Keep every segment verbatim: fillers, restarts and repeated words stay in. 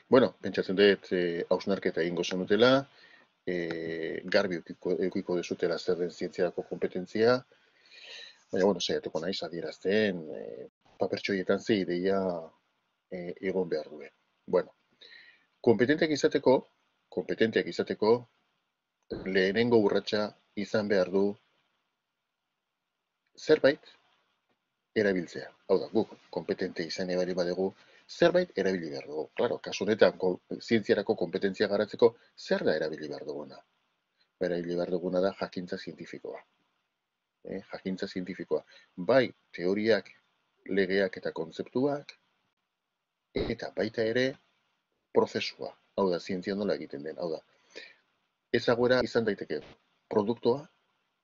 Bueno, pentsatzen dut eh, hausnarketa egingo zenutela, eh, garbi eukiko, eukiko dezutela zer den zientziarako kompetentzia, baina, bueno, saiatuko naiz adierazten eh, papertxoietan ze ideia eh, egon behar duen. Bueno, kompetenteak izateko, kompetenteak izateko, lehenengo urratsa izan behar du zerbait erabiltzea. Hau da, guk kompetente izan ebari badegu, zerbait erabili behar dugu. Claro, kasu honetan, ko, zientziarako kompetentzia garatzeko, zer da erabili behar duguna? Erabili behar duguna da jakintza zientifikoa. Eh, jakintza zientifikoa. Bai, teoriak, legeak eta kontzeptuak, eta baita ere, prozesua. Hau da, zientzia nola egiten den. Hau da, ezaguera izan daiteke produktua,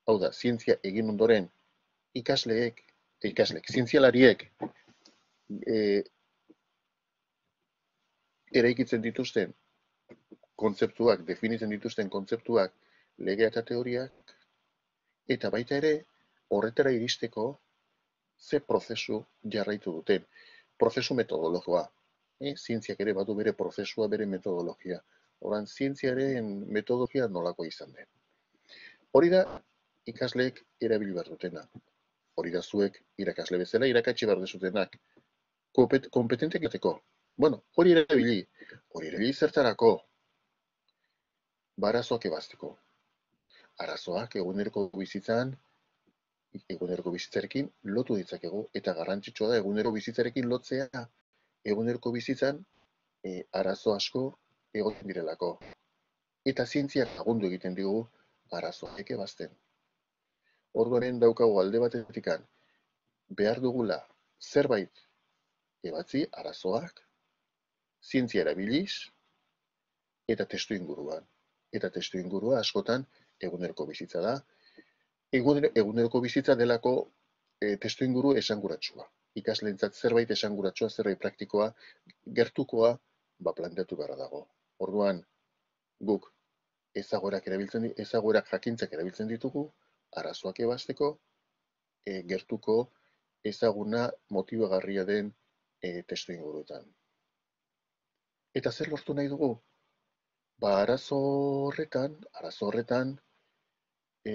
hau da, zientzia egin ondoren ikasleek, ikasleek, zientzialariek e, eraikitzen dituzten kontzeptuak, definitzen dituzten kontzeptuak, legea eta teoriak, eta baita ere, horretara iristeko ze prozesu jarraitu duten. Prozesu metodologoa. E, zientziak ere badu bere prozesua, bere metodologia. Horan, zientziaren metodologia nolako izan den. Hori da, ikasleek erabili behar dutena. Hori da zuek, irakasle bezala, irakatsi behar dezutenak. Kompetentek izateko. Bueno, hori erabili. Hori erabili zertarako. Barazoak ebazteko. Arazoak eguneroko bizitzan, eguneroko bizitzarekin lotu ditzakegu, eta garrantzitsua da egunero bizitzarekin lotzea, eguneroko bizitzan e, arazo asko egoten direlako. Eta zientziak lagundu egiten digu arazoak ebazten. Orduaren daukagu alde batetikan behar dugula zerbait ebatzi arazoak, zientzia erabiliz, eta testu inguruan. Eta testu ingurua askotan eguneroko bizitza da. Eguneroko bizitza delako e, testu inguru esanguratsua. Ikasleentzat zerbait esanguratsua, zerbait praktikoa, gertukoa, ba planteatu beharra dago. Orduan, guk ezaguerak erabiltzen ezaguerak jakintzak erabiltzen ditugu, arazoak ebazteko, e, gertuko ezaguna motibagarria den e, testu inguruetan. Eta zer lortu nahi dugu? Ba, arazo horretan, arazo horretan, e,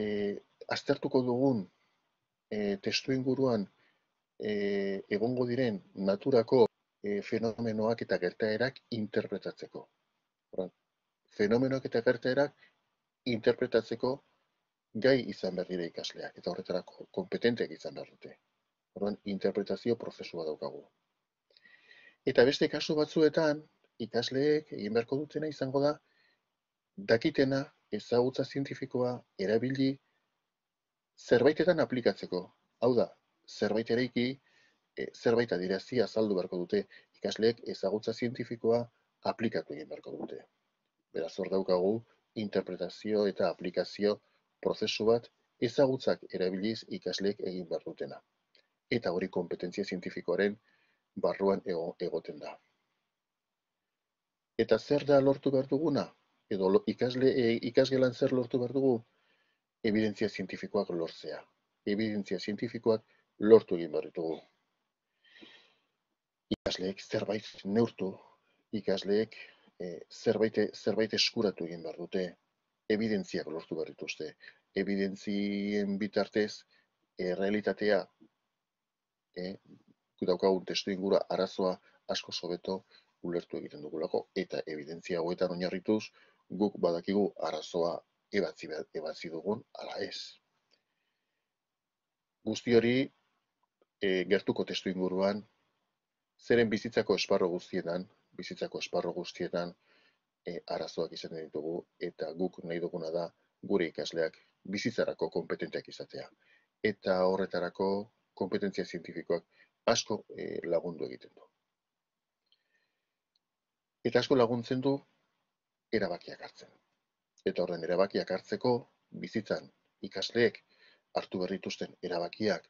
aztertuko dugun e, testu inguruan e, egongo diren naturako e, fenomenoak eta gertaerak interpretatzeko. Horan, fenomenoak eta gertaerak interpretatzeko gai izan behar dira ikasleak, eta horretarako kompetenteak izan behar dute. Horan, interpretazio prozesua daukagu. Eta beste kasu batzuetan, ikasleek egin beharko dutena izango da, dakitena, ezagutza zientifikoa, erabili, zerbaitetan aplikatzeko. Hau da, zerbait eraiki, e, zerbait adierazi azaldu beharko dute, ikasleek ezagutza zientifikoa aplikatu egin beharko dute. Beraz, hor daukagu, interpretazio eta aplikazio prozesu bat ezagutzak erabiliz ikasleek egin behar dutena. Eta hori kompetentzia zientifikoaren barruan egoten da. Eta zer da lortu behar duguna? Edo ikasle, e, ikasgelan zer lortu behar dugu? Evidentzia zientifikoak lortzea. Evidentzia zientifikoak lortu egin behar ditugu. Ikasleek zerbait neurtu, ikasleek e, zerbait, zerbait eskuratu egin behar dute, evidentziak lortu behar dituzte. Evidentzien bitartez, e, realitatea, e, daukagun testu ingura arazoa asko sobeto ulertu egiten dugulako, eta evidentzia hauetan oinarrituz, guk badakigu arazoa ebatzi, ebatzi dugun, ala ez. Guzti hori, e, gertuko testu inguruan, zeren bizitzako esparro guztietan, bizitzako esparro guztietan, e, arazoak izan ditugu, eta guk nahi duguna da, gure ikasleak bizitzarako kompetenteak izatea. Eta horretarako kompetentzia zientifikoak asko e, lagundu egiten du. Eta asko laguntzen du erabakiak hartzen. Eta horren erabakiak hartzeko bizitzan ikasleek hartu berrituzten erabakiak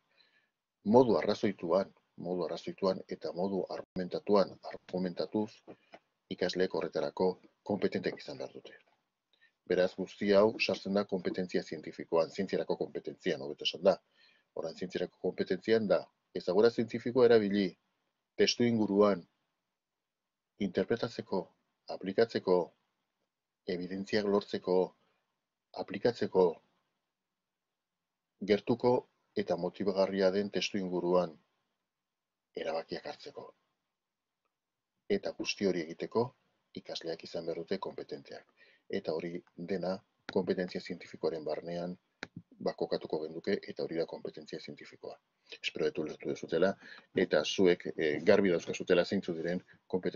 modu arrazoituan, modu arrazoituan eta modu argumentatuan, argumentatuz ikasleek horretarako kompetenteak izan behar dute. Beraz, guzti hau sartzen da kompetentzia zientifikoan, zientziarako kompetentzian, hobeto esan da. Horan, zientziarako kompetentzian da, ezagura zientifikoa erabili, testu inguruan, interpretatzeko aplikatzeko, evidentziak lortzeko, aplikatzeko gertuko eta motibagarria den testu inguruan erabakiak hartzeko. Eta guzti hori egiteko ikasleak izan behar dute kompetenteak. Eta hori dena kompetentzia zientifikoaren barnean bakokatuko genduke, eta hori da kompetentzia zientifikoa. Espero dut ulertu dezutela, eta zuek eh, garbi dauzkazutela zeintzu diren kompetentzia